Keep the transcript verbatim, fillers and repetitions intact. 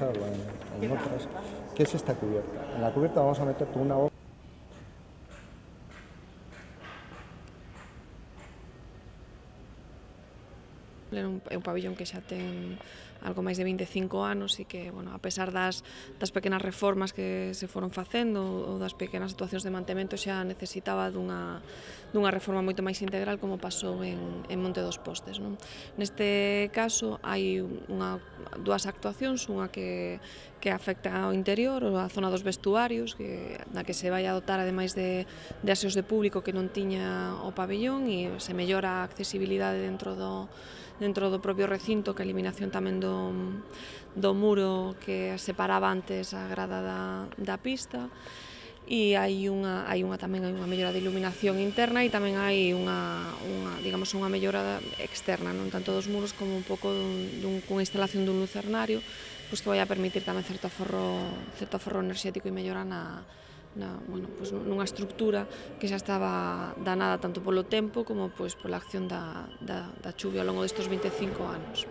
usarlo en, en otras, que es esta cubierta. En la cubierta vamos a meter una boca. É un, é un pabillón que xa ten algo máis de vinte e cinco anos e que, bueno, a pesar das, das pequenas reformas que se foron facendo ou das pequenas actuacións de mantemento, xa necesitaba dunha, dunha reforma moito máis integral como pasou en, en Monte dos Postes, non? Neste caso hai unha, dúas actuacións, unha que, que afecta ao interior, a zona dos vestuarios, que, na que se vai a dotar ademais de, de aseos de público que non tiña o pabillón e se mellora a accesibilidade dentro do dentro do propio recinto, que a eliminación tamén do, do muro que separaba antes a grada da, da pista, e hai unha, hai unha tamén hai unha mellora de iluminación interna e tamén hai unha, unha, digamos, unha mellora externa, non tanto dos muros como un pouco dun, dun, cunha instalación dun lucernario, pois que vai a permitir tamén certo aforro, certo aforro enerxético e mellora na, na, bueno, pues nunha estructura que xa estaba danada tanto polo tempo como pois pola acción da, da, da chuvia ao longo destes vinte e cinco anos.